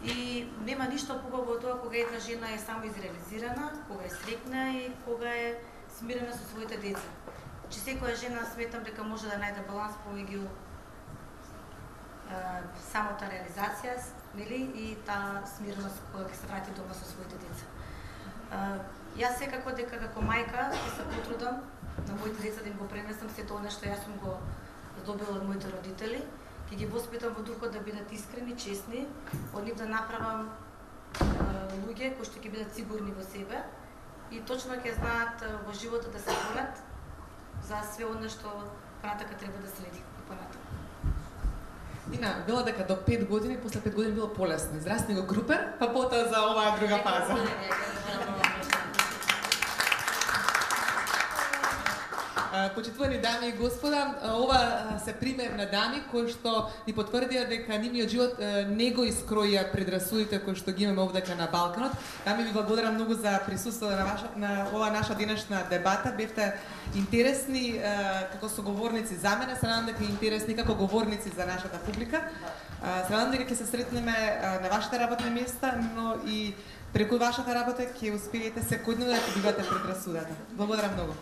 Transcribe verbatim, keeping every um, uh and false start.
И нема ништо побаво од тоа кога една жена е само изреализирана, кога е среќна и кога е смирена со своите деца. Че секоја жена сметам дека може да најде баланс помеѓу самата реализација, нели, и таа смиреност кога ќе се врати дома со своите деца. Јас секако дека како мајка ќе се потрудам на моите деца да им го пренесам се тоа што јас сум го добила од моите родители. Ќе ги воспитам во духот да бидат искрени, честни, од нив да направам луѓе кои што ќе бидат сигурни во себе и точно ќе знаат во животот да се борат за све оно што понатака треба да следи и понатака. Ина, била дека до пет години, после пет години било полесно. Израсни го крупер, па потоа за оваа друга фаза. Почитувани дами и господа, ова се пример на дами кои што ни потврдија дека нивниот живот не го искроија предрасудите кои што ги имаме овдека на Балканот. Дами, ви благодарам многу за присуството на, ваша, на ова наша денешна дебата. Бевте интересни како соговорници за мене, се надам дека интересни како говорници за нашата публика. Се надам дека ќе се сретнеме на вашите работни места, но и преку вашата работа ќе успеете секојдневно да побивате предрасудата. Благодарам многу.